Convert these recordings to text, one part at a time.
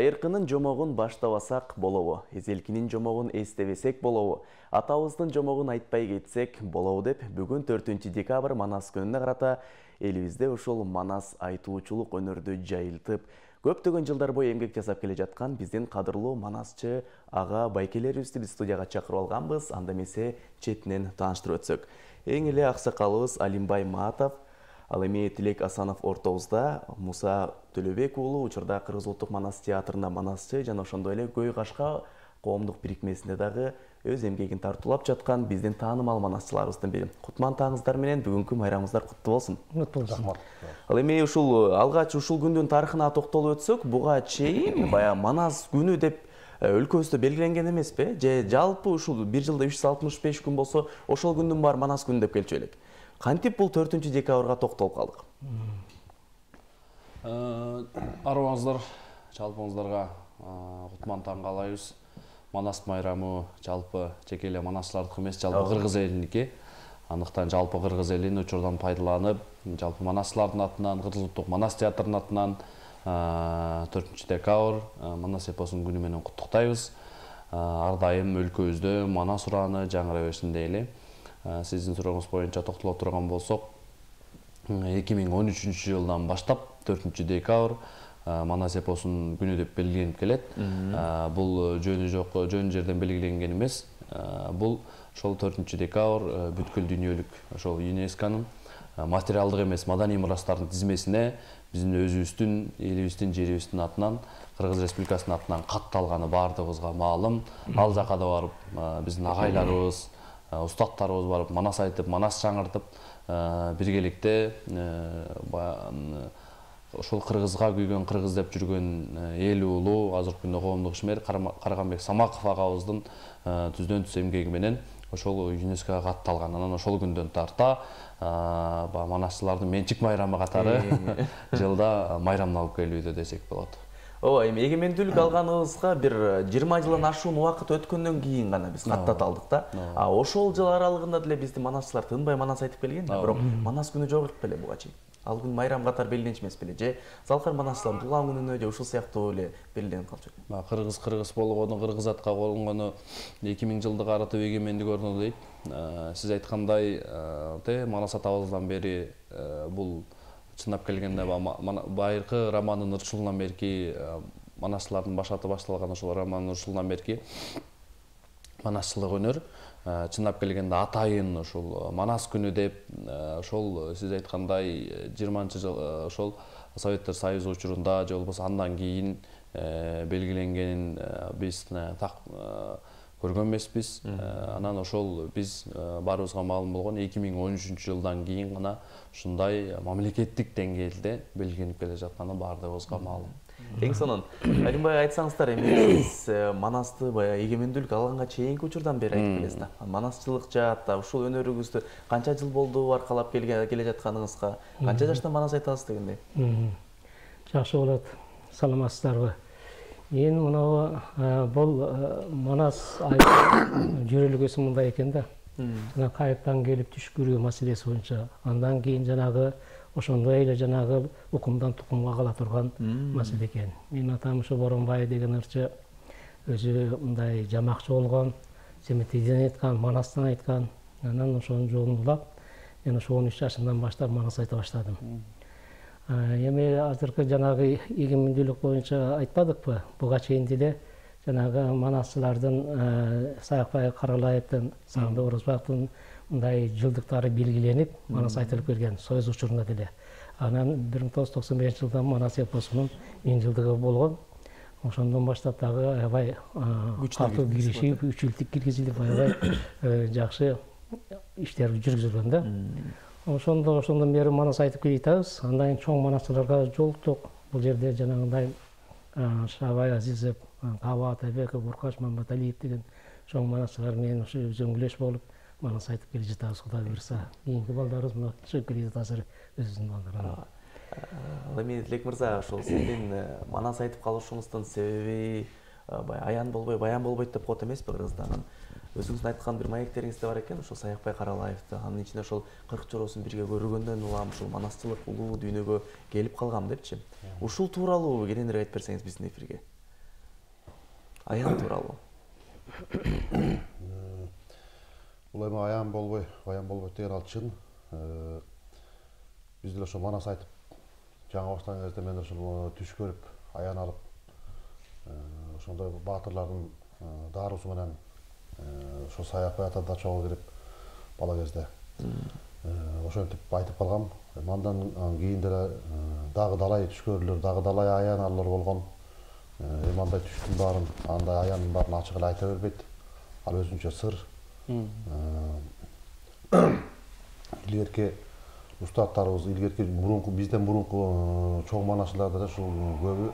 Байыркынын жомогун баштабасак болобу? Эзелкинин жомогун эстебесек болобу? Атабыздын жомогун айтпай кетсек болобу деп бүгүн 4-декабрь Манас күнүнө карата элибизде ушул Манас айтуучулук өнөрдү жайылтып, көптөгөн жылдар бою эмгек жасап келе жаткан биздин кадырлуу манасчы ага байкелерибизди биз студияга чакырып алганбыз. Анда эмесе четинен тааныштырып өтсөк. Эң эле аксакалыбыз Алимбай Маатов, ал эми Тилек Асанов ортобузда, Муса Төлөбек уулу учурда Кыргыз улуттук манас театрында манасчы жана ошондой эле Көй Кашка коомдук бирикмесинде дагы өз эмгегин тартуулап жаткан биздин таанымал манасчыларыбыздын бири. Кутман таңыңыздар менен бүгүнкү майрамыңыздар куттуу болсун. Куттуу болсун. Ал эми ушул алгач ушул күндүн тарыхына токтолуп өтсөк, буга чейин баягы Манас күнү деп өлкөбүздө белгиленген эмеспи? Же жалпы ушул бир жылда 365 күн болсо, ошол күндүн баары Манас күнү деп келчү элек. Кантип бул 4-декабрга токтолуп калдык? Арыбаңыздар, жалпыңыздарга кутман таң каалайбыз. Манас майрамы жалпы жеке эле манасчылардыкы эмес, жалпы кыргыз элиники. Андыктан жалпы кыргыз элин учурдан пайдаланып, жалпы манасчылардын атынан, Кыргыз улуттук манас театрынын атынан 4-декабрь Манас эпосунун күнү менен куттуктайбыз. Ар дайым өлкөбүздө манас урааны жаңыра берсин дейли. Сиздин сурооңуз боюнча токтоло турган болсок, 2013 жылдан баштап 4-декабрь Манас эпосунун күнү деп белгиленип келет. Бул жөнү жок, жөн жерден белгиленген эмес. Бул ошол 4-декабрь бүткүл дүйнөлүк ошол ЮНЕСКОнун материалдык эмес маданий мурастардын тизмесине биздин өзүбүздүн, элибиздин, жерибиздин атынан, Кыргыз Республикасынын атынан катталганы баардыгыбызга маалым. Ал жака да барып биздин агайларыбыз, устаттарыбыз барып манас айтып, манас жаңыртып, биргеликте ошол кыргызга күйгөн, кыргыз деп жүргөн эл уулу, азыркы күндө коомдук ишмер Карганбек Самаков агабыздын түздөн түз эмгеги менен ошол ЮНЕСКОга катталган. Анан ошол күндөн тарта манасчылардын менчик майрамы катары жылда майрамдалып келүүдө десек болот. Ооба, эми эгемендүүлүк алганыбызга бир 20 жылдан ашуун убакыт өткөндөн кийин гана биз каттат алдык да. Ошол жыл аралыгында деле биздин манасчылар тынбай манас айтып келген да. Бирок Манас күнү жок беле буга чейин. Ал күн майрам катары белгиленчү эмес беле? Же залкар манасчылардын туулган күнүнө же ушул сыяктуу эле белгиленип калчу? Кыргыз болгону, кыргыз атка болгону 2000 жылдык аратып эгемендик орноду дейт. Сиз айткандай, Манас атабыздан бери бул чындап келгенде байыркы романдын ырчылынан берки манасчылардын башаты башталган ошол романдын ырчылынан берки манасчылык өнөр чындап келгенде атайын ошол Манас күнү деп ошол сиз айткандай 20-жыл ошол Советтер Союзу учурунда же болбосо андан кийин белгиленгенин биз так көргөн эмеспиз. Анан ошол биз баарыбызга маалым болгон 2013 жылдан кийин гана ушундай мамлекеттик деңгээлде белгиленип келе жатканы баардыгыбызга маалым. Эң сонун Алимбай айтсаңыздар, эми сиз Манасты баягы эгемендүүлүк алганга чейинки учурдан бери айтып келесиз да. Манасчылык жаатта ушул өнөрүңүздү канча жыл болду аркалап келе жатканыңызга, канча жаштан манас айтасыз дегендей? Жакшы болот. Саламатсыздарбы? Мен мынау бул Манас жөрөлгөсү мындай экен да. Жана кайыктан келип түшкүрүү маселеси боюнча, андан кийин жанагы ошондой эле жанагы укумдан тукумга кала турган маселе экен. Менин атам ушу Боронбай деген ырчы өзү мындай жамакчы болгон, Семетиден айткан, Манастан айткан. Анан ошонун жолун улап, мен ошо 13 жашымдан баштап Манас айта баштадым. Эми азыркы жанагы эгемендүүлүк боюнча айтпадыкпы? Буга чейин деле жанагы манасчылардын Саякбай Каралаевдин, Сагынбек Орозбаевдин мындай жылдыктары белгиленип, Манас айтылып келген Союз учурунда деле. Анан 1995 жылдан Манас эпосунун 1000 жылдыгы болгон. Ошондон баштап дагы аябай катуу киришип, 3 жылдык киргизилип, аябай жакшы иштер жүргүзүлгөн да. Ошондон бери Манас айтып келе жатабыз. Андан чоң манасчыларга жолуктук. Бул жерде жанагындай Шабай Азизов, Каба Атайбеков, Буркаш Маматалиев деген чоң манасчылар менен ошо үзөңгүлөш болуп Манас айтып келе жатабыз, Кудай буйрса. Кийинки балдарыбыз мына чыгып келе жатат азыр өзүбүздүн балдарына. Ал эми Тилек мырза, ошол сиздин Манас айтып калышыңыздын себеби аян болбой, баян болбойт деп коет эмеспи кыргызда? Өзүңүздүн айткан бир маектериңиз да бар экен, ошол Саякбай Каралаевди, анын ичинде ошол 40 чороосун бирге көргөндөн улам ушул манасчылык улуу дүйнөгө келип калгам депчи. Ушул тууралуу кененирээк айтып берсеңиз биздин эфирге. аян тууралуу. Бул эми аян болбойт деген ал чын. Биз деле ошо манас айтып жаңы баштаган кезде мен ошол түш көрүп аян алып ошондой баатырлардын дарусу менен ошо саяк баятада чогуу кирип бала кезде ошентип айтып калгам. Андан кийин деле дагы далай түш көрүүлөр, дагы далай аян алуулар болгон. Эми андай түштүн баарын, андай аянын баарын ачык эле айта бербейт. Ал өзүнчө сыр. Илгерки устаттарыбыз, илгерки бизден мурунку чоң манасчылар деле ушул көбү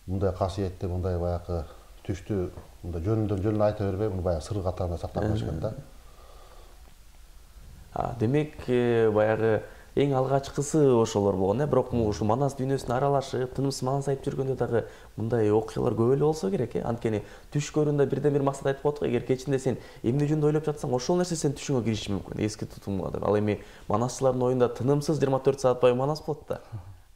мындай касиетти, мындай баягы түштү мындай жөнүндөн жөн айта бербей, муну баягы сыр катарында сактап келишкен да. Демек, баягы эң алгачкысы ошолор болгон, бирок ушул манас дүйнөсүнө аралашып, тынымсыз манас айтып жүргөндө дагы мындай окуялар көп эле болсо керек, Анткени түш көрүүндө бирден бир максат айтып коет го, эгер кечинде сен эмне жөнүндө ойлоп жатсаң, ошол нерсе сен түшүңө кириши мүмкүн, эски тутумга деп. Ал эми манасчылардын оюнда тынымсыз 24 саат бою манас болот да.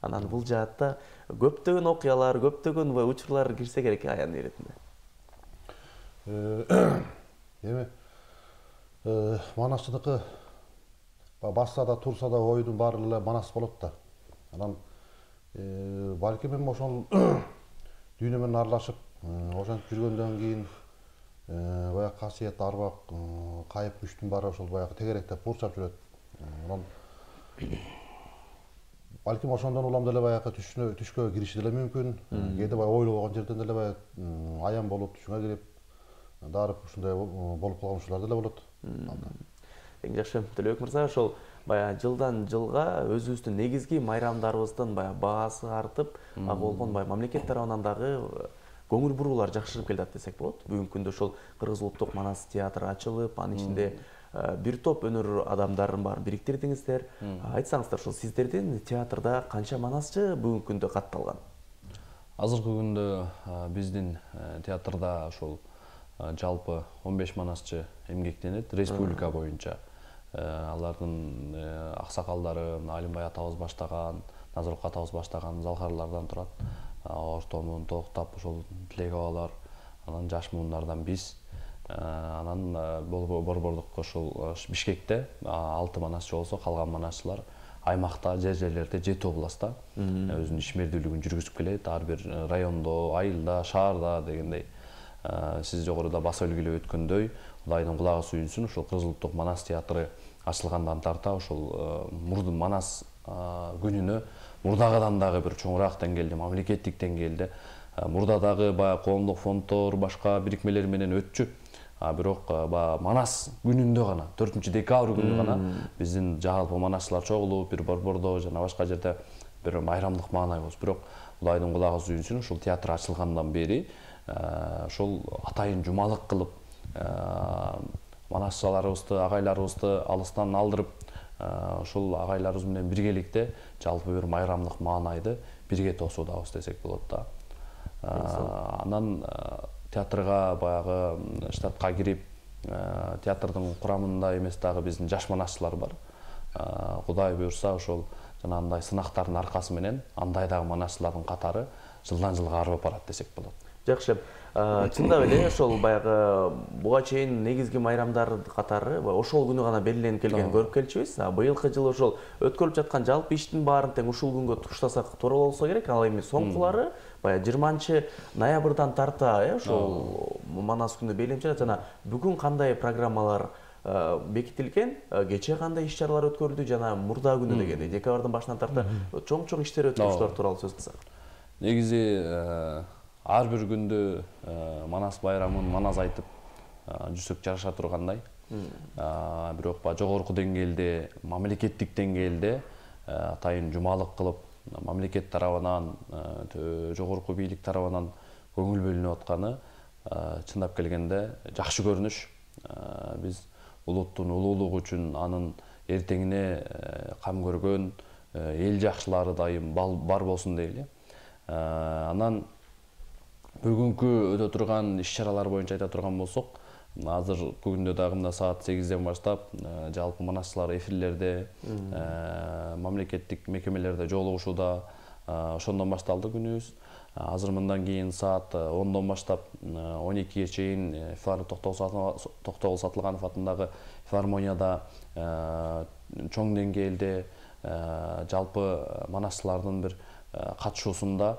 Анан бул жаатта көптөгөн окуялар, көптөгөн учурлар кирсе керек аян иретинде. Эми манасчылыкы басса да турса да оюдун баары эле манас болот да. Анан балким эми ошол дүйнө менен аралашып ошентип жүргөндөн кийин баягы касиет, арбак, кайып күчтүн баары ошол баягы тегеректеп курчап жүрөт. Анан балким ошондон улам деле баягы түшкө кириши деле мүмкүн. Кээде баягы ойлобогон жерден деле баягы аян болуп түшүңө кирип дарып ушундай болуп калган учурлар деле болот. Эң жакшы, Төлөбек мырза, ошол баягы жылдан жылга өзүбүздүн негизги майрамдарыбыздын баягы баасы артып, ага болгон баягы мамлекет тарабынан дагы көңүл буруулар жакшырып келатат десек болот. Бүгүнкү күндө ошол Кыргыз улуттук манас театры ачылып, анын ичинде бир топ өнөр адамдарын баарын бириктирдиңиздер. Айтсаңыздар, ошол сиздердин театрда канча манасчы бүгүнкү күндө катталган? Азыркы күндө биздин театрда ошол жалпы 15 манасчы эмгектенет республика боюнча. Алардын аксакалдары Алимбай атабыз баштаган, Назырбек атабыз баштаган залкарлардан турат. Ортомун токтап ошол Тилек абалар, анан жаш муундардан биз. Анан борбордук ошол Бишкекте 6 манасчы болсо, калган манасчылар аймакта, жерлерде 7 областта өзүнүн ишмердүүлүгүн жүргүзүп келет. Ар бир райондо, айылда, шаарда дегендей. Сиз жогоруда баса үлгүлөп өткөндөй, Кудайдын кулагы сүйүнсүн, ошол Кыргыз улуттук манас театры ачылгандан тарта ошол мурдун манас күнүнө мурдагыдан дагы бир чоңураак деңгээлде, мамлекеттик деңгээлде, мурда дагы баягы коомдук фонддор, башка бирикмелер менен өтчү. Бирок манас күнүндө гана, 4-декабрь күнү гана биздин жалпы манасчылар чогулуп, бир борбордо жана башка жерде бир майрамдык маанайбыз. Бирок Кудайдын кулагы сүйүнсүн, ушул театр ачылгандан бери ошол атайын жумалык кылып манасчыларыбызды, агайларыбызды алыстан алдырып, ошол агайларыбыз менен биргеликте жалпы бир майрамдык маанайды бирге тосуудабыз десек болот да. Анан театрга баягы штатка кирип, театрдын курамында эмес дагы биздин жаш манасчылар бар. Кудай буйрса ошол жанагындай сынактардын аркасы менен андай дагы манасчылардын катары жылдан жылга арып барат десек болот. Жакшы. Чындап эле ошол баягы буга чейин негизги майрамдар катары ошол күнү гана белгиленип келген көрүп келчүбүз. Быйылкы жылы ошол өткөрүлүп жаткан жалпы иштин баарын тең ушул күнгө туштасак туура болсо керек. Ал эми соңкулары баягы 20-ноябрдан тарта ошол манас күнү белгиленип жатат. Жана бүгүн кандай программалар бекитилген, кече кандай иш-чаралар өткөрүлдү жана мурда күнү дегендей декабрдын башынан тарта чоң иштер өткөрүлүшүлөр тууралуу сөз кылсак. Негизи ар бир күндө манас байрамын манас айтып жүрсөк жараша тургандай. Бирок жогорку деңгээлде, мамлекеттик деңгээлде атайын жумалык кылып, мамлекет тарабынан, жогорку бийлик тарабынан көңүл бөлүнүп атканы чындап келгенде жакшы көрүнүш. Биз улуттун улуулугу үчүн анын эртеңине кам көргөн эл жакшылары дайым бар болсун дейли. Анан бүгүнкү өтө турган иш-чаралар боюнча айта турган болсок, азыркы күндө дагы мына саат 8ден баштап жалпы манасчылар эфирлерде, мамлекеттик мекемелерде жолугушууда, ошондон башталды күнүбүз. Азыр мындан кийин саат 10-дон баштап 12-ге чейин Токтогул Сатылганов атындагы филармонияда чоң деңгээлде жалпы манасчылардын бир катышуусунда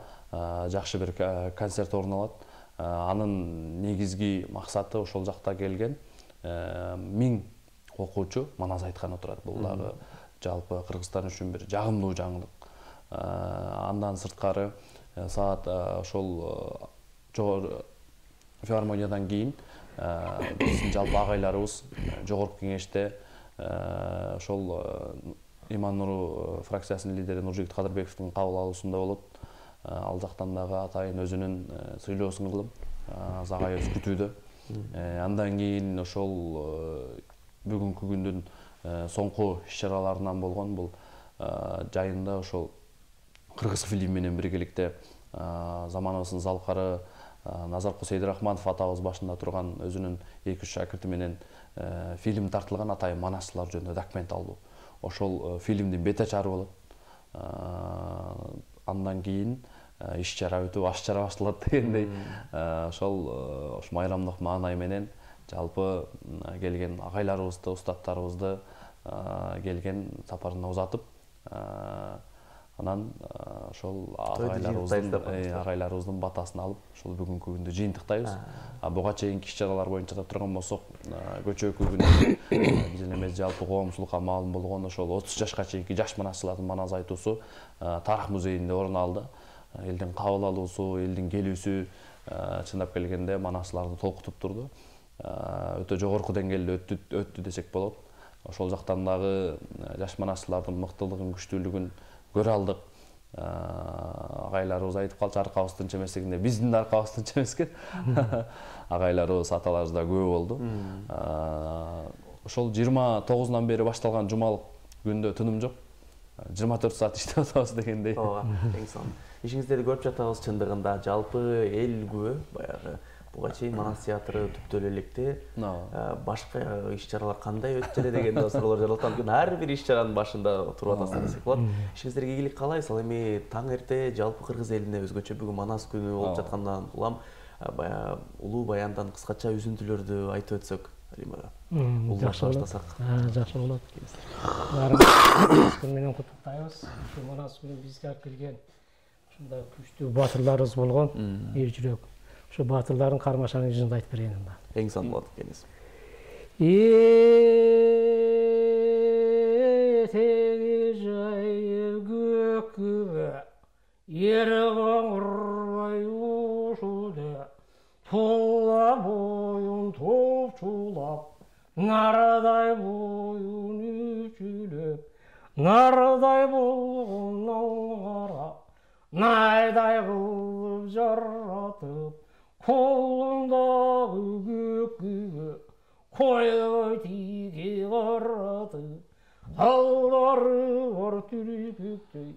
жакшы бир концерт орун алат. Анын негизги максаты ошол жакта келген 1000 окуучу манас айтканы турат. Бул дагы жалпы Кыргызстан үчүн бир жагымдуу жаңылык. Андан сырткары саат ошол жогору филармониядан кийин биздин жалпы агайларыбыз жогорку кеңеште ошол Иман Нуру фракциясынын лидери Нуржигит Кадырбековдун кабыл алуусунда болот. Ал жактан дагы атайын өзүнүн сүйлөөсүн кылып Загайыбыз күтүүдө. Андан кийин ошол бүгүнкү күндүн соңку иш-чараларынан болгон бул жайында ошол Кыргыз фильм менен биргеликте заманыбыздын залкары Назаркул Сейдирахманов атабыз башында турган өзүнүн 2-3 шакирти менен фильм тартылган атайын манасчылар жөнүндө документалдуу. Ошол фильмдин бет ачары болот. Андан кийин иш-чара өтүп, аш-чара башталат дегендей. Ошол майрамдык маанай менен жалпы келген агайларыбызды, устаттарыбызды келген сапарына узатып, анан ошол агайларыбыздын батасын алып, ошол бүгүнкү күндү жыйынтыктайбыз. Буга чейинки иш-чаралар боюнча да турган болсок, көчөкү күндө биздин эмес жалпы коомчулукка маалым болгон ошол 30 жашка чейинки жаш манасчылардын манас айтуусу Тарых музейинде орун алды. Элдин кабыл алуусу, элдин келүүсү чындап келгенде манасчыларды толкутуп турду. Өтө жогорку деңгээлде өттү десек болот. Ошол жактан дагы жаш манасчылардын мыктылыгын, күчтүүлүгүн көрө алдык. Агайларыбыз айтып калчу, аркабыздын чеместигинде биздин да аркабыздын чемескен. Агайларыбыз, аталарыбыз да көп болду. Ошол 29-нан бери башталган жумалык күндө тыным жок. 24 саат иштеп атабыз дегендей. Ооба, эң сонун. Ишиңиздерди көрүп жатабыз чындыгында. Жалпы эл күбө баягы буга чейин манас театры түптө электе башка иш-чаралар кандай өтүп эле деген суроолор жаралат. Анткени ар бир иш-чаранын башында туруп атасыз десек болот. Ишиңиздерге ийгилик каалайбыз. Ал эми таң эрте жалпы кыргыз элине өзгөчө бүгүн манас күнү болуп жаткандан улам баягы улуу баяндан кыскача үзүндүлөрдү айтып өтсөк, Алима. Жакшы баштасак. Жакшы болот. Манас күнү менен куттуктайбыз. Ушу манас күнү бизге алып келген ушундай күчтүү батырларыбыз болгон, эр жүрөк. Ошо батырлардын кармашаны жынды айтып берейин анда. Эң сонун болот экенсиз. Этеги жайып көккүбө, ер коңурбай ушуде, тула боюн топчулап, нардай боюн үчүлөп, нардай болгон карап, найдай кылып жаратып, колундагы көккүбө койгой тиги каратып, талдары бар түркүктөй,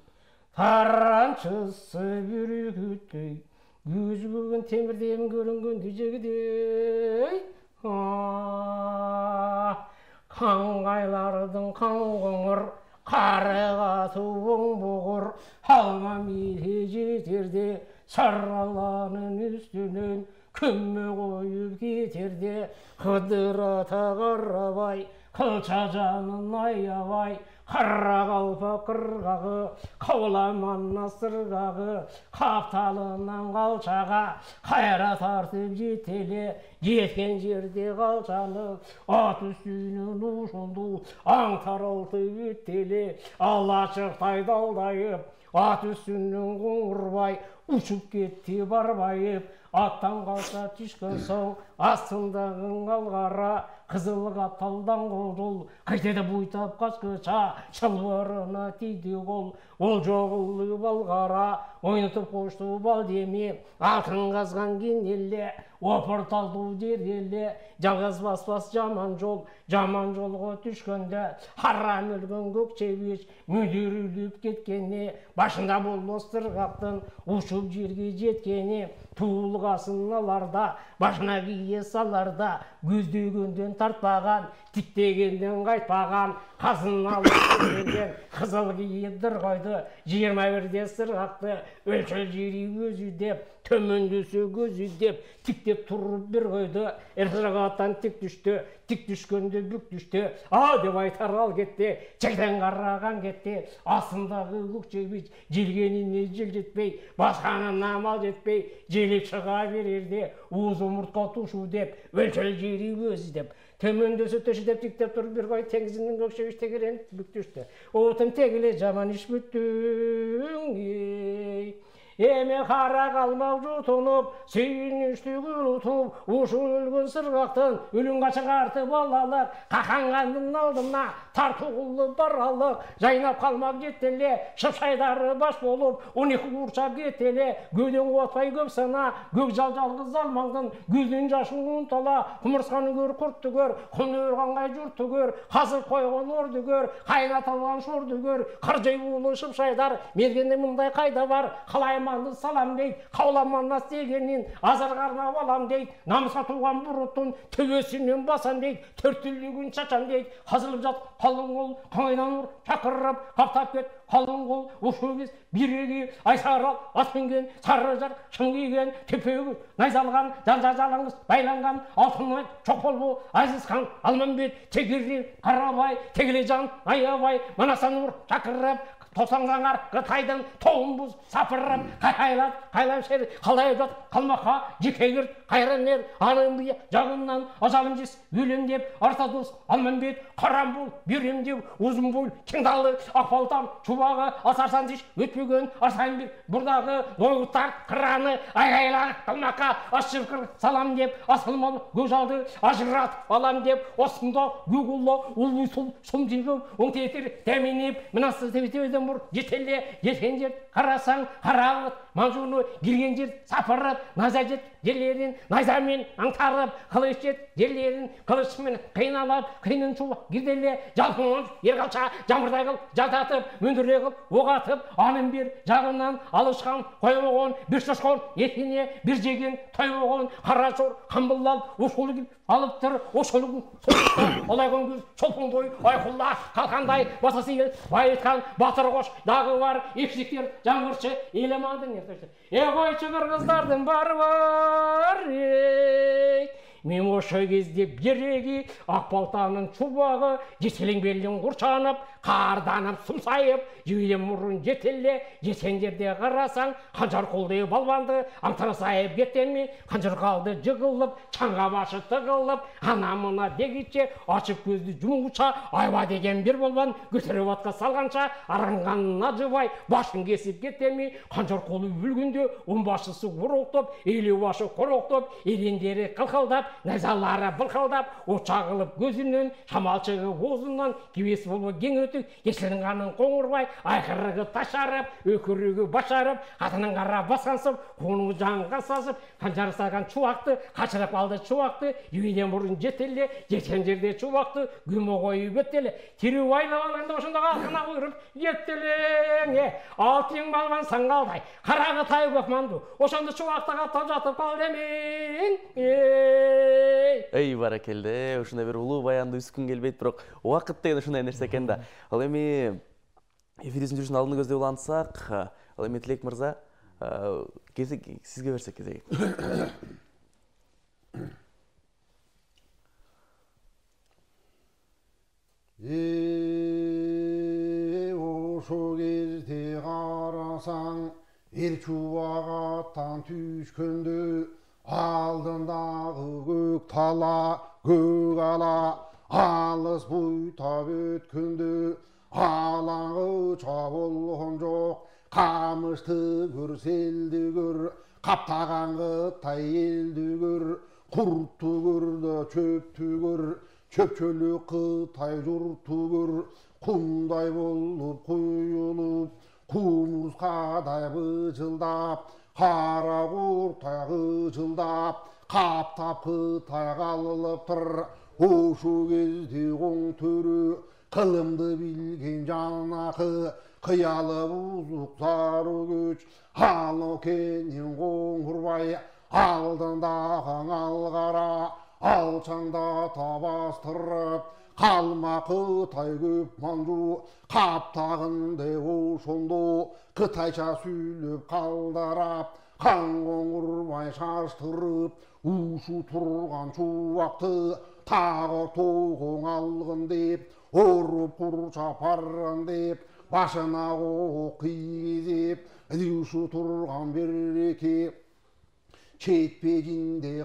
таранчысы бүркүттөй, көз бүгүн темирден көрүнгөндү жегидей. Каңгайлардын каң коңур, карыга туң бугур, алма мире жетерде, сараланын үстүнөн көмө коюп кетерде, Кыдыр ата карабай, кылча жанын аябай, кара калпак кыргагы, кабыламан сыргагы, капталынан калчага кайра тартып жетеле, жеткен жерде калчаны ат үстүнөн ушунду аң таралтып өттеле, алачыктай далдайып ат үстүнөн коңурбай учуп кетти барбайып, аттан калса түшкөн соң астындагы алгара, кызыл капталдан кожул кайтеде буйтап качкыча, чалбарына тийди кол, ол жогулуп алгара, ойнотуп кошту балдеми, алтын казган кинеле, опурталдуу жер эле, жалгыз баспас жаман жолго түшкөндө, харам өлгөн көк чебиш мүдүрүлүп кеткени, башында болбос тыргактын учуп жерге жеткени, туулгасын аларда, башына кие саларда, көздөгөндөн тартпаган, тиктегенден қайтпаған қазын алып келген қызыл киідір қойды 21-де сырғақты өлчел жері өзі деп төмендесе көзі деп тиктеп тұрып бір қойды сырғаттан тик düştü тик түшкенде бүк düştü а деп айтар ал кетті жерден қараған кетті астындағы көкжебіш желгеніне жел жетпей басқанын амал жетпей желіп шыға берерде уыз омыртқа тушу деп өлчел жері өзі деп төмендесе төші деп тиктеп тұрып бір қой теңізінің көкшебіш тегерен бүк düştü отым тегіле жаман іш бүттің Эме қара қалмақ жұтынып, сүйініштігін ұтып, ұшы өлген сырғақтың өлін қашығарты балалық, қақанғандың алдына тартуғылы баралық, жайнап қалмақ жеттеле, шыпшайдары баш болып, 12 құршап кеттеле, көден отпай көп сана, көк жалғыз алмаңдың, көздің жашын ұнтала, құмырсқаны көр, құртты көр, құн өрғанғай жұртты көр, қазып қойған орды көр, қайнатылған шорды көр, қыржай болы шыпшайдар, мергенде мұндай қайда бар, қалай салам дейд, қауламанна стегенін азарғарна балам дейд, намысқа туған бұрыттың төбесінен басам дейд, төрттілігін шачам дейд, қазылып жат қалың қол, қаңайдан ұр, шақырып, қаптап кет, қалың қол, ұшуыз, биреги, айсарал, аспенген, сарыжар, шыңгиген, төпегі, найзалған, жалаңыз, байланған, алтынай, чоқбол, Азизхан, Алманбет, Тегеррен, Қарабай, Тегележан, Аябай, Манасан ұр, шақырып, Тосаңғанғар, қытайдың тоғын бұз, сапырып, қайлап шер, қалай жат, қалмақа, жекегір, қайранер, аның бұя, жағымнан, ажалым жес, өлем деп, артадос, Алманбет, Қарамбол, Берем деп, ұзын бол, кеңдалы, Ақбалтам, Чубағы, Асарсан деш, өтпеген, Арсайын бір, бұрдағы, дойғыттар, қыраны, айғайлар, қалмақа, ашшырқыр, салам деп, асылмал, көжалды, ажырат, алам деп, осында, гүгулла, ұлы сұл, сұмдығы, оңтетір, дәменеп, мінасы тебетебеден бұр, жетеле, жеткен жер, қарасаң, қарағыт, манжуны, келген жер, сапырып, наза жет, жерлерін, найзамен аңтарып, қылыш жет, жерлерін, қылышымен қиналап, қиынын шуа, гирделе, жалпыңын, ерғалша, жамырдай қыл, жататып, мөндіре қыл, оғатып, анын бір жағынан алышқан, қоймаған, бір шошқан, етіне, бір жеген, тоймаған, қарашор, қамбылал, ошолы кел, алып тұр, ошолығын, солықта, олайған көз, шолпың той, айқұлла, қалқандай, басасы ел, байытқан, батыр қош, дағы бар, епсіктер, жаңғыршы, елемадың ертесі. Қойшы қырғыздардың бары бар, мен осы кезде береги, Ақбалтаның чубағы, жетелең белдің құршанып, қарданып, сұмсайып, жүйден мұрын жетеле, жетен жерде қарасаң, қанжар қолды балбанды, аңтара сайып кеттенме, қанжар қалды жығылып, чаңға башы тығылып, анамына дегітше, ашып көзді жұмғыша, айба деген бір болбан, көтеріп атқа салғанша, араңғанын ажыбай, башын кесіп кеттенме, қанжар қолы өлгенде, башысы ұроқтып, елі башы қороқтып, елендері қылқылдап, найзалары былқылдап, очағылып көзінен, шамалшығыозынан, кебес болып кең өтік, есілінғанын қоңырбай, айқырығы ташарып, өкірігі башарып, қатының қара басқансып, қоңы жанға сасып, қанжары саған чуақты, қашырып алды чуақты, үйден бұрын жетелі, жеткен жерде чуақты, күмі қойып өттелі, тері байлап алғанда осында қалқына қойырып, еттелең, алтын балбан саңғалдай, қарағы тай көкманды, осында чуақты қаттап жатып қалды мен. Эй, баракелде, ушундай бир улуу баянды үскүн келбейт, бирок убакыт деген ушундай нерсе экен да. Ал эми эфирибиздин жүрүшүнүн алдын көздөй улантсак, ал эми Тилек мырза, сизге берсек кезеги. Ошо кезде карасаң, эл чубагаттан түшкөндө, алдындағы көк тала, көк ала, алыс буйтап өткенде, алаңы чабылған жоқ, қамышты көр, селді көр, қаптаған қытай елді көр, құртты көр да чөпті көр, чөпчөлі қытай жұртты көр, құмдай болып құйылып, құмырсқадай быжылдап, қара құртай қыжылдап, қаптап қытай қалылып тұр. Ошу кезде оң төрі, қылымды білген жанақы, қиялы бұзық сары көч, алы кенен қоңырбай, алдындағы алғара, алшаңда табастырып, қалма Қытай көп манжу қаптағынды ошондо Қытайша сүйлөп қалдарап қан қоңырбай шаштырып ушу тұрған чубакты тағы тоғың алғын деп оруп курчап барган деп башына оқ кийгизип ушу тұрған береке четпегинде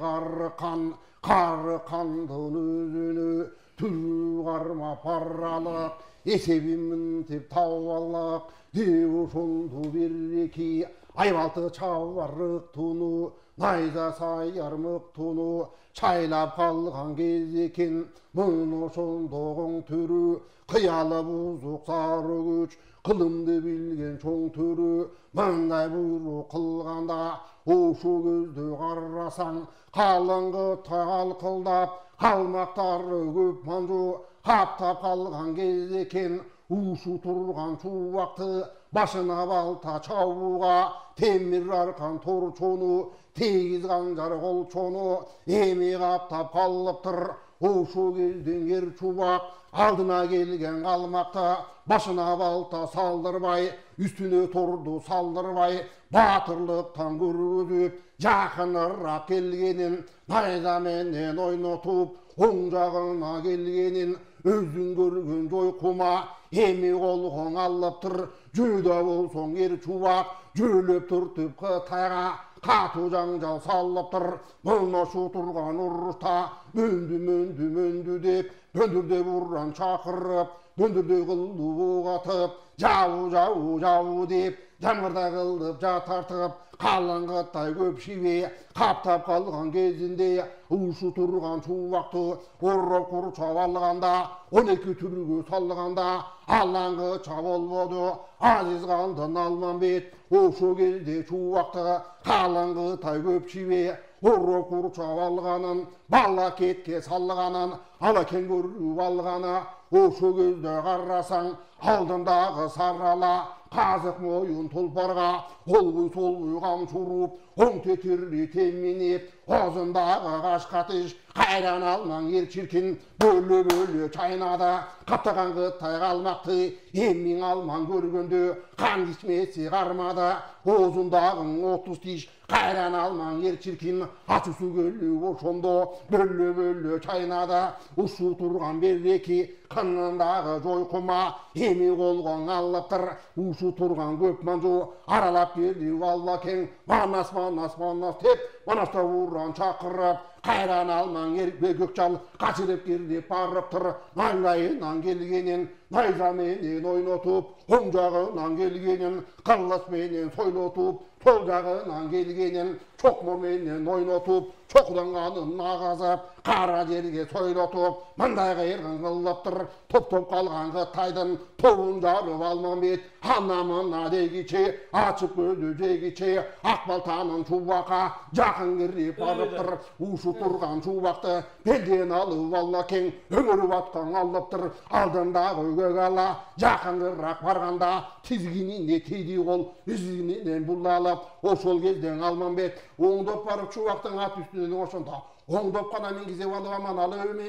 карыкандын өзүнө түрү кармап баралык эсебимин деп табалык деп ошондо береке айбалты чабарык туну найза саяр мыктуну чайлап калган кез экен мына ошондо оң төрү кыялы бузук сары күч кылымды билген чоң төрү мындай буйрук кылганда ошо көздө карасаң калың Кытай калкылдап калмактары көп манжу каптап калган кез экен ушу турган чубакты башына балта чабууга темир аркан торчону тегиз канжар колчону эми каптап калыптыр ошо кезден ер чубак алдына келген калмакта башына балта салдырбай үстүнө торду салдырбай баатырлыктан көргөзүп жакыныраак келгенин найза менен ойнотуп оң жагына келгенин өзүң көргөн жойкума эми колгоң алыптыр жөөдө болсоң ер чубак жөөлөп түртүп Кытайга катуу жаңжал салыптыр мына ошо турган урушта мөндү деп бөндүрдөй буран чакырып бөндүрдөй кылдуу буг атып жабуу деп жамгырдай кылдып жатартып калың Кытай көп шибе каптап калган кезинде ушу турган чубакты ороп курчап алганда 12 түргө салганда алаңгыча болбоду азиз калдын Алмамбет ошо кезде чубакты калың Кытай көп шибе ороп курчап алганын бала кетке салганын алакең көрүп алганы ошо көздө карасаң алдындагы сарала казык моюн тулпарга олбуй солбуй камчы уруп оң тетирди теминип оозундагы кашкатыш кайран алмаң ер чиркин бөлө чайнады каптаган Кытай калмакты эмиң алмаң көргөндө кан кичмеси кармады оозундагы 30 тиш кайран алмаң ер чиркин ачуусу көлүп ошондо бөлө чайнады ушу турган береки кынындагы жойкума эми колгоң алыптыр ушу турган көп манжу аралап келди Балбакең манас деп манаста буран чакырып кайран алмаң ер көкчал качырып кирди барыптыр найзайынан келгенин найза менен ойнотуп оң жагынан келгенин кылыч менен сойлотуп сол жагынан келгенин чокмор менен ойнотуп чокуланганын агазып кара жерге сойлотуп мындай кыйыргын кылыптыр топ калган Кытайдын тобун жарып Алмамбет ана мына дегиче ачык көздү жегиче ак балтанын чубакка жакын кирип барыптыр ушу турган чубакты белден алып Балбакең өңөрүп аткан алыптыр алдындагы көк ала жакыныраак барганда тизгинине тийди кол изгининен булалып ошол кезден Алмамбет оңдоп барып чубактын ат үстүнөн ошондо оңдоп гана мингизип алып аман алып эми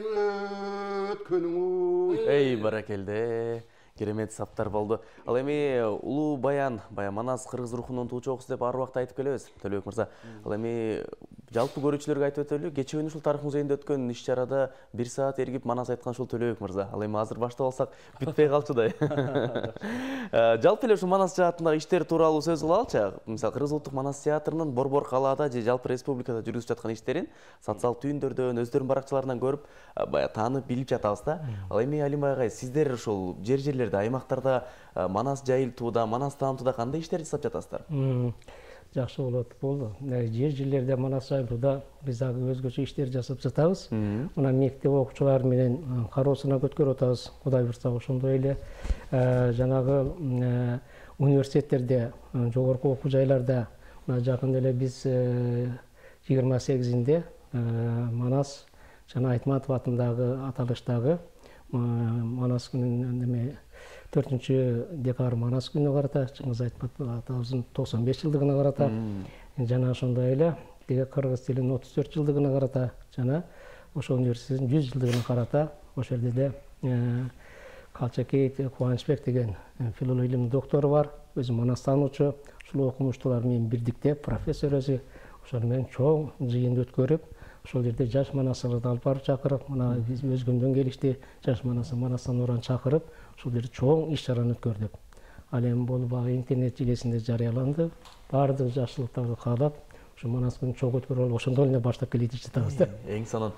өткөнүң эй баракелде керемет саптар болду. Ал эми улуу баян Манас кыргыз рухунун туучу деп ар убакта айтып келебиз. Төлөбек мырза, ал эми жалпы көрүүчүлөргө айтып өтөлү. Кечээ күнү ушул тарых музейинде өткөн иш-чарада 1 саат эргип Манас айткан ушул Төлөбек мырза. Ал эми азыр баштап алсак бүтпөй калчудай. Жалпы эле ушул Манас жаатындагы иштер тууралуу сөз кылалычы. Мисалы Кыргыз улуттук Манас театрынын борбор калаада же жалпы республикада жүргүзүп жаткан иштерин социалдык түйүндөрдөн, өздөрүнүн баракчаларынан көрүп, баягы таанып, билип жатабыз да. Ал эми Алим агай, сиздер ушул жерлерде, аймактарда Манас жайылтууда, Манас таанытууда кандай иштер жасап жатасыздар? Жакшы болот, болду. Жерлерде Манас жайылтууда биз дагы өзгөчө иштер жасап жатабыз. Мына мектеп окуучулары менен кароосуна көткөрүп атабыз. Кудай буйрса ошондой эле жанагы университеттерде, жогорку окуу жайларда жакында эле биз 28-inde Манас жана Айтматов атындагы аталыштагы Манас күнүнө 4-декабрь Манас күнүнө карата, Чыңгыз Айтматов атабыздын 95 жылдыгына карата, жана ошондой эле кыргыз тилинин 34 жылдыгына карата, жана ошо университеттин 100 жылдыгына карата ошол жерде Калчакей Кубанычбек деген филология илиминин доктору бар, өзү манастануучу. Ушул окумуштуулар менен бирдикте профессор өзү ошол менен чоң жыйын өткөрүп, ошол жерде жаш манастарды алып барып чакырып, мына биз Өзгөндөн келишти, жаш манастан чакырып, ошол жерде чоң иш-чараны өткөрдүк. Ал эми бул баягы интернет желесинде жарыяланды. Баардык жакшылыктарды каалап, ошо Манас күнүн чоң өткөрүп алып, ошондон эле баштап келе жатабыз да. Эң сонун.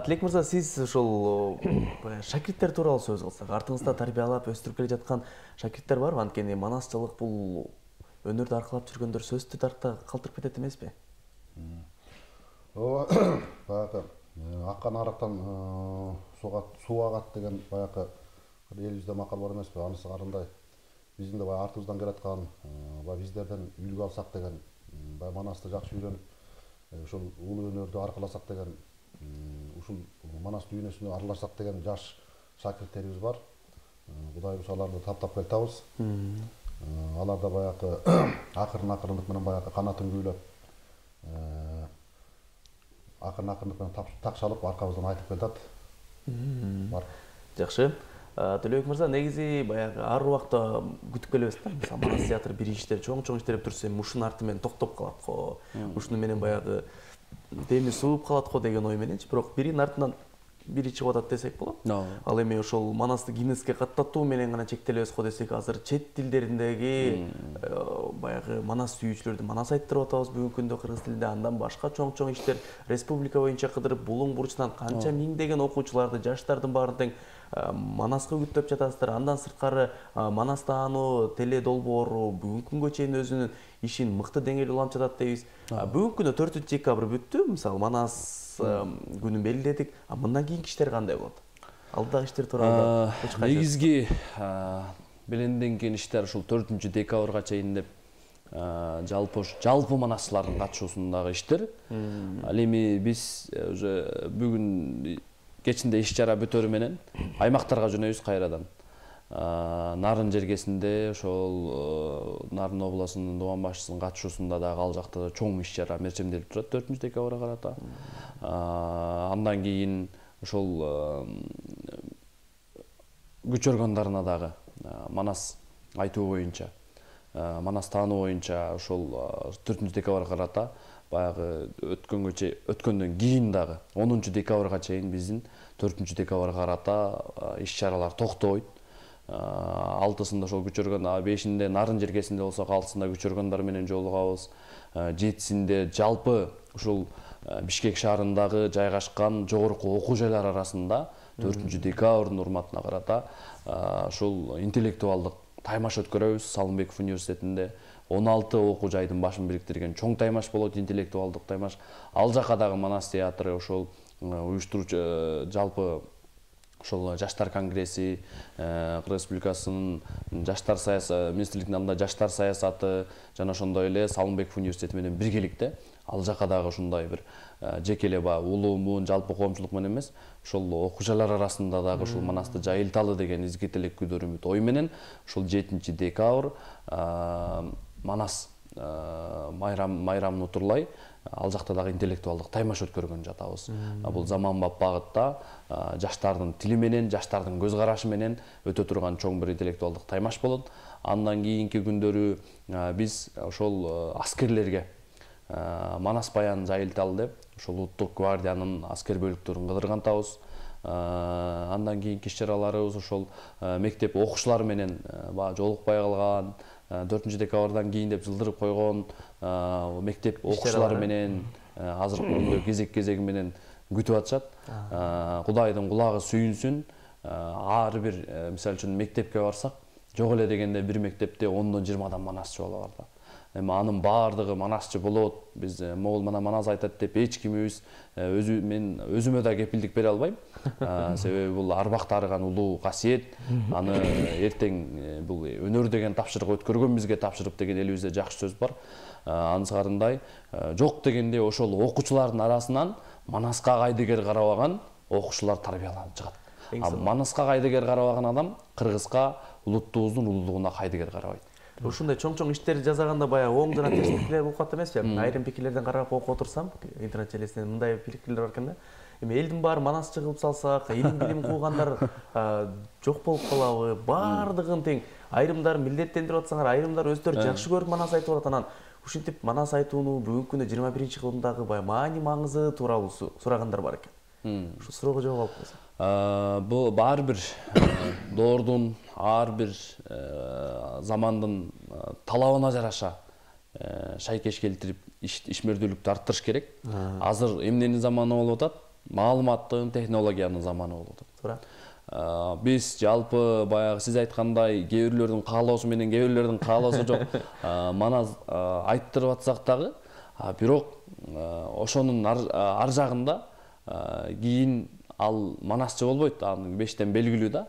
Тилек мырза, сиз ошол шакирттер тууралуу сөз кылсак, артыңызда тарбиялап өстүрүп келе жаткан шакирттер барбы? Анткени манасчылык бул өнөрдү аркылап жүргөндөр сөздү тарта калтырып кетет эмеспи? Ооба, баягы аккан арыктан суу агат деген баягы элибизде макал бар эмеспи? Анысы кандай? Биздин да баягы артыбыздан келаткан, баягы биздерден үлгү алсак деген, баягы манасты жакшы үйрөнүп, ошол улуу өнөрдү аркыласак деген, ушул манас дүйнөсүнө аралашсак деген жаш шакирттерибиз бар. Кудайыбыз аларды таптап келатабыз. Алар да баягы акырындык менен баягы канатын күүлөп, акырындык менен такшалып аркабыздан айтып келатат. Бар. Жакшы. Төлөбек мырза, негизи баягы ар убакта күтүп келебиз да. Мисалы, Манас театр бир иштер, чоң иштер деп турса, ушунун арты менен токтоп калат го. Ушуну менен баягы деми сууп калат го деген ой мененчи. Бирок биринин артынан бири чыгып атат десек болот. Ал эми ошол Манасты Гиннеске каттатуу менен гана чектелебиз го десек, азыр чет тилдериндеги баягы Манас сүйүүчүлөрдү Манас айттырып атабыз бүгүнкү күндө кыргыз тилинде, андан башка чоң иштер республика боюнча кыдырып, булуң бурчунан канча миңдеген окуучуларды, жаштардын баарын тең Манаска үгүттөп жатасыздар. Андан сырткары Манас таануу, теле долбоору бүгүнкү күнгө чейин өзүнүн ишин мыкты деңгээлде улантып жатат дейбиз. Бүгүнкү күндө 4-декабрь бүттү. Мисалы, Манас күнүн белгиледик. Мындан кийинки иштер кандай болот? Алдыдагы иштер тууралуу негизги беленденген иштер ушул 4-декабрга чейин деп жалпы манасчылардын катышуусундагы иштер. Ал эми биз уже бүгүн кечинде иш-чара бүтөрү менен аймактарга жөнөйбүз кайрадан. Нарын жергесинде ошол Нарын областынын Дубан башчысынын катышуусунда дагы ал жакта чоң иш-чара мерчемделип турат 4-декабрга карата. Андан кийин ошол көчөргөндарына дагы Манас айтуу боюнча, Манас таануу боюнча ошол 4-декабрга карата баягы өткөндөн кийин дагы 10-декабрга чейин биздин 4-декабрга карата иш-чаралар токтобойт. 6-сында ошол көчөргөн, 5-inde Нарын жергесинде болсок, 6-сында көчөргөндар менен жолугабыз. 7-синде жалпы ушул Бишкек шаарындагы жайгашкан жогорку окуу жайлар арасында 4-декабрдын урматына карата ушул интеллектуалдык таймаш өткөрөбүз. Салымбеков университетинде 16 окуу жайдын башын бириктирген чоң таймаш болот, интеллектуалдык таймаш. Ал жака дагы Манас театры ошол уюштуруучу жалпы ошол жаштар конгресси, Кыргыз Республикасынын жаштар саясаты министрлигинин алдында жаштар саясаты жана ошондой эле Салымбеков университети менен биргеликте ал жака дагы ушундай бир жеке эле улуумун жалпы коомчулук менен эмес, ошол окуу жайлар арасында дагы ушул Манасты жайылталы деген изги тилек күдөр үмүт ой менен ушул 7-декабрь Манас майрамын утурлай ал жакта дагы интеллектуалдык таймаш өткөргөн жатабыз. Бул заманбап багытта жаштардын тили менен, жаштардын көз карашы менен өтө турган чоң бир интеллектуалдык таймаш болот. Андан кийинки күндөрү биз ошол аскерлерге Манас баянын жайылталы деп ошол Улуттук гвардиянын аскер бөлүктөрүн кыдыргантабыз. Андан кийинки иш-чараларыбыз ошол мектеп окуучулары менен жолукпай калган, 4-декабрдан кийин деп жылдырып койгон мектеп окуучулары менен азыркы күндө кезеги менен күтүп атышат. Кудайдын кулагы сүйүнсүн. Ар бир мисалы үчүн мектепке барсак, жок эле дегенде бир мектепте 10-20 манасчы боло бар да. Эми анын баардыгы манасчы болот. Биз могул Манас айтат деп эч кимибиз мен өзүмө да кепилдик бере албайм. Себеби бул арбакта арыган улуу касиет. Аны эртең бул өнөр деген тапшырык өткөргөнбүзгө тапшырып деген элибизде жакшы сөз бар. Анысыкарындай жок дегенде ошол окуучулардын арасынан Манаска кайдыгер карабаган окуучулар тарбияланып чыгат. Манаска кайдыгер карабаган адам кыргызга, улуттубуздун улуулугуна кайдыгер карабайт. Ушундай чоң иштер жасаганда баягы оң жана терс пикирлер болуп калат эмеспи? Айрым пикирлерден карап окуп отурсам, интернет желесинде мындай пикирлер бар экен да. эми элдин баары манасчы кылып салсак, илим билим куугандар жок болуп калабы? Бардыгын тең. Айрымдар милдеттендирип атсаңар, айрымдар өздөрү жакшы көрүп манас айтып атат. Анан ушинтип манас айтууну бүгүнкү күндө 21-кылымдагы баягы маани маңызы тууралуу сурагандар бар экен. Ушу суроого жооп алып койсоң. Бул ар бир доордун, ар бир замандын талабына жараша шайкеш келтирип ишмердүүлүктү арттырыш керек. Азыр эмненин заманы болуп атат? Маалыматтын, технологиянын заманы болуп атат. Туура. Биз жалпы баягы сиз айткандай кээ бирлердин каалоосу менен кээ бирлердин каалоосу жок манас айттырып атсак дагы, бирок ошонун ар жагында кийин ал манасчы болбойт, анын бештен белгилүү да.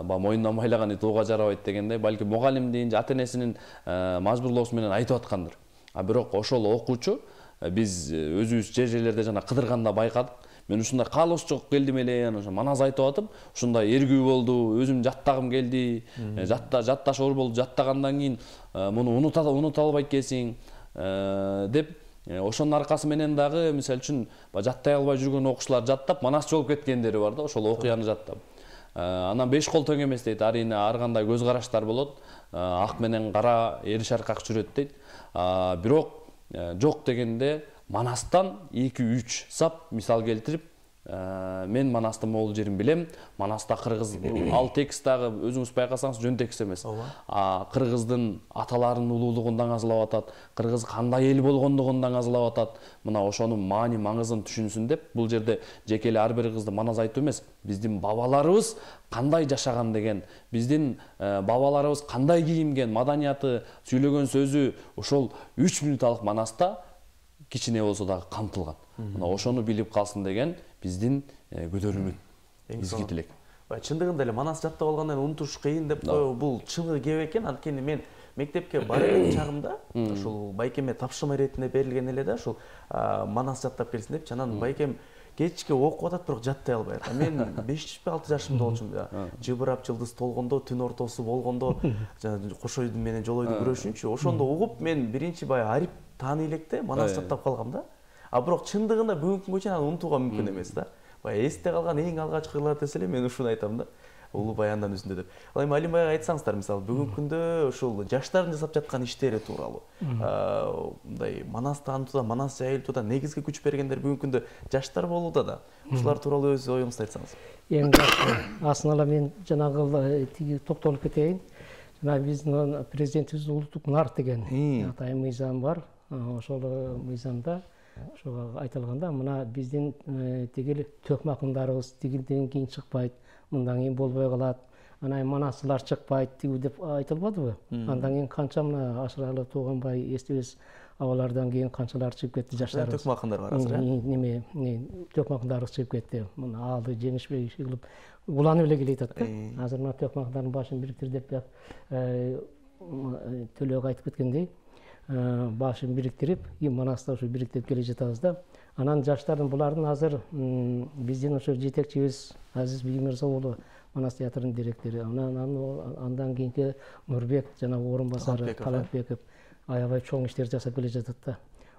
Мойнунан байлаган тууга жарабайт дегендей, балки мугалимдин же ата-энесинин мажбурлоосу менен айтып аткандыр. Бирок ошол окуучу биз өзүбүз жерлерде жана кыдырганда байкадык. Мен ушундай каалоосу жок келдим эле, ошо манас айтып атып, ушундай эргүү болду, өзүм жаттагым келди, жатташ оор болду, жаттагандан кийин муну унута албайт экенсиң деп, ошонун аркасы менен дагы мисалы үчүн жаттай албай жүргөн окуучулар жаттап, манасчы болуп кеткендери бар да, ошол окуяны жаттап. Анан беш кол тең эмес дейт, арине ар кандай көз караштар болот, ак менен кара эри шаркак жүрөт дейт. Бирок жок дегенде манастан 2-3 сап мисал келтирип, мен манастын могул жерин билем. Манаста кыргыз, ал текст дагы өзүңүз байкасаңыз жөн текст эмес. Кыргыздын аталарынын улуулугун даңазалап атат, кыргыз кандай эл болгондугун даңазалап атат. Мына ошонун маани маңызын түшүнсүн деп, бул жерде жеке эле ар бир кызды манас айтуу эмес, биздин бабаларыбыз кандай жашаган деген, биздин бабаларыбыз кандай кийинген, маданияты, сүйлөгөн сөзү ошол 3 минуталык манаста кичине болсо дагы камтылган. Мына ошону билип калсын деген биздин көтөрүмүт, изги тилек. Чындыгында эле манас жаттап алгандан унутуш кыйын деп коюу бул чыны кеп экен. Анткени мен мектепке барган чагымда ошол байкеме тапшырма иретинде берилген эле да, ошол манас жаттап келсин деп. Анан байкем кечке окуп атат, бирок жаттай албай атат. Мен 5-6 жашымда болчумун. Жыбырап жылдыз толгондо, түн ортосу болгондо, кошой менен жолойду күрөшүнчү. Ошондо угуп мен биринчи баягы арип тааный электе манас жаттап калгам да. Бирок чындыгында бүгүнкү күнгө чейин аны унутууга мүмкүн эмес да. Баягы эсте калган эң алгачкылар десе эле мен ушуну айтам да. Улуу баяндан үзүндө деп. Ал эми Алим байга айтсаңыздар, мисалы бүгүнкү күндө ушул жаштардын жасап жаткан иштери тууралуу. Мындай манас таанытууда, манас жайылтууда негизги күч бергендер бүгүнкү күндө жаштар болууда да. Ушулар тууралуу өз оюңузду айтсаңыз. Эң жакшы. Асында мен жанагы тиги токтолуп кетейин. Жана биздин президентибиз улуттук нар деген атайын мыйзам бар. Ошол мыйзамда ошого айтылганда, мына биздин тигил төкмө акындарыбыз тигилден кийин чыкпайт, мындан кийин болбой калат, анан манасчылар чыкпайт тигүү деп айтылбадыбы? Андан кийин канча мына Ашыралы Тууганбай эстебес абалардан кийин канчалар чыгып кетти жаштарыбыз. Төкмө акындар бар азыр, неме, төкмө акындарыбыз чыгып кетти. Мына Аалы Жеңишбек кылып уланып эле келатат да. Азыр мына төкмө акындардын башын бириктир деп Төлөөгө айтып кеткендей, башын бириктирип, манаста ушу бириктирип келе жатабыз да. Анан жаштардын булардын азыр биздин ошо жетекчибиз Азиз Биймирза уулу Манас театрынын директору, андан кийинки Нурбек жана орун басары Талантбеков аябай чоң иштер жасап келе жатат да.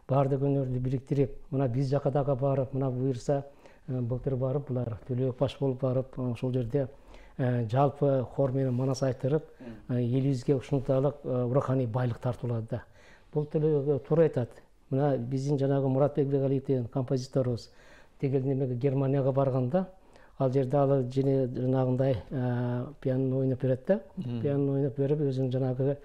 Баардык өнөрдү бириктирип, мына биз жака дагы барып, мына буюрса былтыр барып, булар Төлөök баш болуп барып, ошол жерде жалпы хор менен манас айтырып, элибизге ушунчалык руханий байлык тартуулады да. Бул Төлөөгө туура айтат. Мына биздин жанагы Муратбек Бегалиев деген композиторубуз тигил немеге Германияга барганда, ал жерде ал жанагындай пианино ойноп берет да. Пианино ойноп берип, өзүнүн жанагы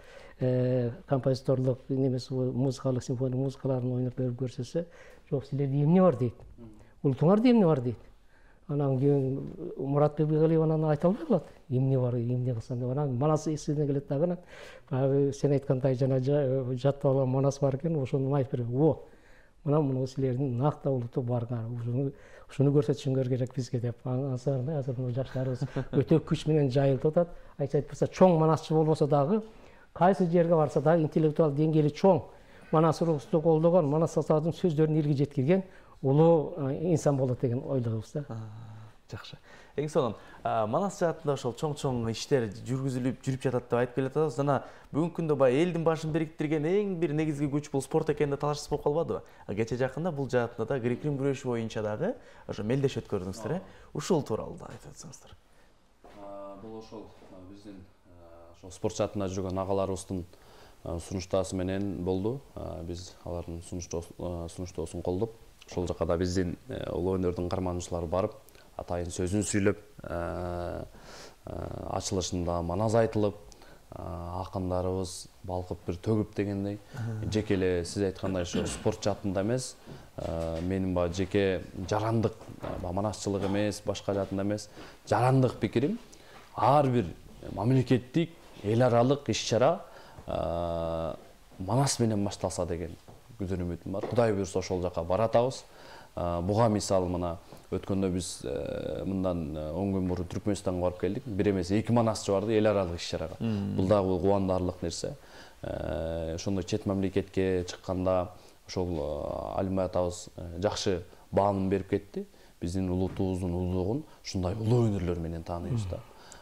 композиторлук немеси музыкалык симфония музыкаларын ойноп берип көрсөтсө, жок силерде эмне бар дейт. Улутуңарда эмне бар дейт. Анан кийин Муратбек Бегалиев анан айта албай калат. Эмне бар, эмне кылсам деп. Анан манас эсине келет дагы. Баягы сен айткандай жана жаттап алган манас бар экен, ошону айтып берет. Мына силердин накта улуттук барыңар. Ушуну көрсөтүшүңөр керек бизге деп. Азыр жаштарыбыз өтө күч менен жайылтып атат. Айтса чоң манасчы болбосо дагы, кайсы жерге барса дагы интеллектуал деңгээли чоң, манас урусту колдогон, манас сазардын сөздөрүн элге жеткирген улуу инсан болот деген ойлойбуз да. Жакшы. Эң сонун Манас жаатында ошол чоң иштер жүрүп жатат деп айтып келатабыз. Жана бүгүнкү күндө баягы элдин башын бириктирген эң бир негизги күч бул спорт экенинде талашсыз болуп калбадыбы? Кече жакында бул жаатында да грек-рим күрөшү боюнча дагы ошо мелдеш өткөрдүңүздөр, Ушул тууралуу да айтып өтсөңүздөр. Бул ошол биздин ошол спорт жаатында жүргөн агаларыбыздын сунуштаасы менен болду. Биз алардын сунуштоосун колдоп, ошол жака да биздин улуу өнөрдүн кармануучулары барып, атайын сөзүн сүйлөп, ачылышында манас айтылып, акындарыбыз балкып бир төгүп дегендей. Жеке эле сиз айткандай ошо спорт жаатында эмес, менин баягы жеке жарандык, манасчылык эмес, башка жаатында эмес, жарандык пикирим ар бир мамлекеттик, эл аралык иш-чара манас менен башталса деген күзөн үмүтүм бар. Кудай буйрса ошол жака баратабыз. Буга мисалы мына өткөндө биз мындан 10 күн мурун Түркмөнстанга барып келдик. Бир эмес 2 манасчы барды эл аралык иш-чарага. Бул дагы кубандарлык нерсе. Ошондой чет мамлекетке чыкканда ошол Алимбай атабыз жакшы баанын берип кетти. Биздин улутубуздун улуулугун ушундай улуу өнөрлөр менен тааныйбыз да.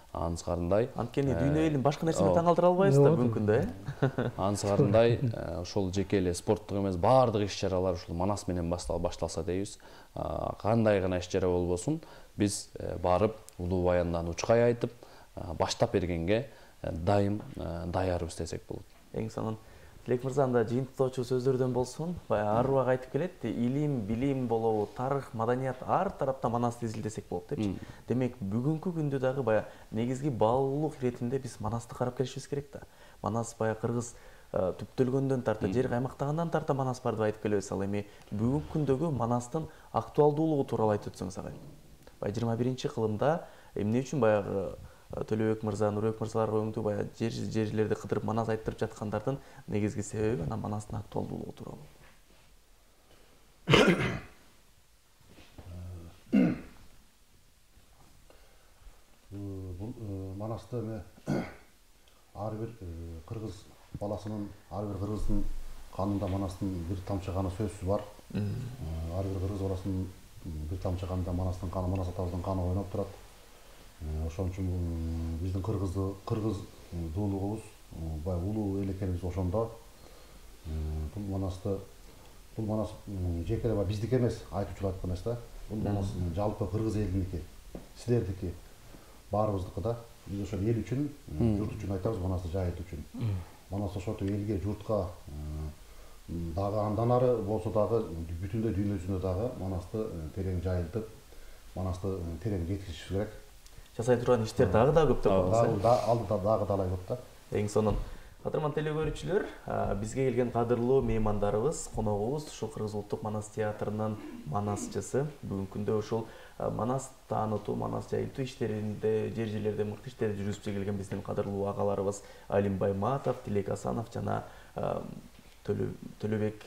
Анысгарындай анткени дүйнө элин башка нерсе менен таң калтыра албайбыз да бүгүнкү күндө, Анысгарындай ошол жеке эле спорттук эмес, баардык иш-чаралар ушул манас менен башталса дейбиз. Кандай гана иш-чара болбосун, биз барып улуу баяндан учкай айтып, баштап бергенге дайым даярбыз десек болот. Эң сонун Тилек мырза, анда жыйынтыктоочу сөздөрдөн болсун, баягы ар убак айтып келет, илим, билим болобу, тарых, маданият ар тарапта манасты изилдесек болот депчи. Демек, бүгүнкү күндө дагы баягы негизги баалуулук иретинде биз манасты карап келишибиз керек да. Манас баягы кыргыз түптөлгөндөн тарта, жер каймактагандан тарта манас бар деп айтып келебиз. Ал эми бүгүнкү күндөгү манастын актуалдуулугу тууралуу айтып өтсөңүз агай. Баягы 21-кылымда эмне үчүн баягы Төлөбек мырза, Нурбек мырзаларга өңдүү баягы жерлерди кыдырып манас айтып жаткандардын негизги себеби анан манастын актуалдуулугу тууралуу. Бул манасты ар бир кыргыз баласынын, ар бир кыргыздын канында манастын бир тамчы каны сөзсүз бар. Ар бир кыргыз баласынын бир тамчы канында манастын каны, Манас атабыздын каны ойноп турат. Ошон үчүн биздин кыргыз дуулугубуз баягы улуу эл экенибиз ошондо. Бул манас жеке эле биздики эмес, айтуучулар айткан эмес да. Бул манас жалпы кыргыз элиники, силердики, баарыбыздыкы да. Биз ошол эл үчүн, журт үчүн айтабыз, манасты жайылтуу үчүн. Манас ошентип элге, журтка дагы андан ары болсо дагы бүтүндөй дүйнө жүзүндө дагы манасты терең жайылтып, манасты терең жеткизишибиз керек. Жасай турган иштер дагы да көп деп коебуз. Алдыда дагы талай көп да. Эң сонун. Кадырман телекөрүүчүлөр, бизге келген кадырлуу меймандарыбыз, коногубуз ушул Кыргыз улуттук манас театрынын манасчысы. Бүгүнкү күндө ушул манас таанытуу, манас жайылтуу иштеринде, жерлерде мыкты иштерди жүргүзүп келген биздин кадырлуу агаларыбыз Алимбай Матов, Тилек Асанов жана Төлөбек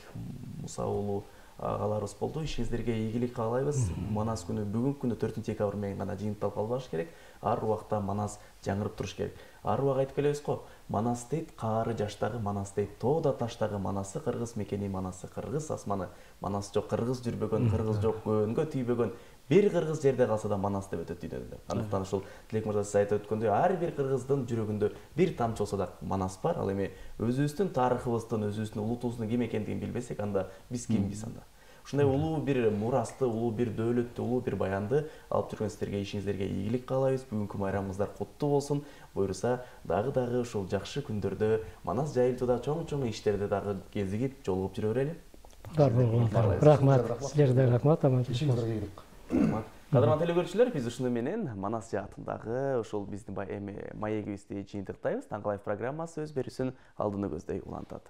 Муса уулу агаларыбыз болду. Ишиңиздерге ийгилик каалайбыз. Манас күнү бүгүнкү күндө 4-декабрь менен гана жыйынтыкталып калбаш керек. Ар убакта манас жаңырып туруш керек. Ар убак айтып келебиз го, манас дейт каары жаштагы манас дейт, тоодо таштагы манасы, кыргыз мекени манасы, кыргыз асманы. Манас жок кыргыз жүрбөгөн, кыргыз жок көөнгө тийбөгөн. Бир кыргыз жерде калса да манас деп өтөт дүйнөдө. Андыктан ушул Тилек мырза сиз айтып өткөндөй, ар бир кыргыздын жүрөгүндө бир тамчы болсо да манас бар. Ал эми өзүбүздүн тарыхыбыздын, өзүбүздүн улутубуздун ким экендигин билбесек, анда биз кимбиз анда? Ушундай улуу бир мурасты, улуу бир дөөлөттү, улуу бир баянды алып жүргөн сиздерге, ишиңиздерге ийгилик каалайбыз. Бүгүнкү майрамыңыздар куттуу болсун. Буйруса, дагы ушул жакшы күндөрдө манас жайылтууда чоң иштерде дагы кезигип, жолугуп жүрө берели. Рахмат. Силерге рахмат. Ишиңиздерге ийгилик. Кадырман телекөрүүчүлөр, биз ушуну менен манас жаатындагы ушул биздин маегибизди жыйынтыктайбыз. Таңкалаев программасы өз берүүсүн алдыны көздөй улантат.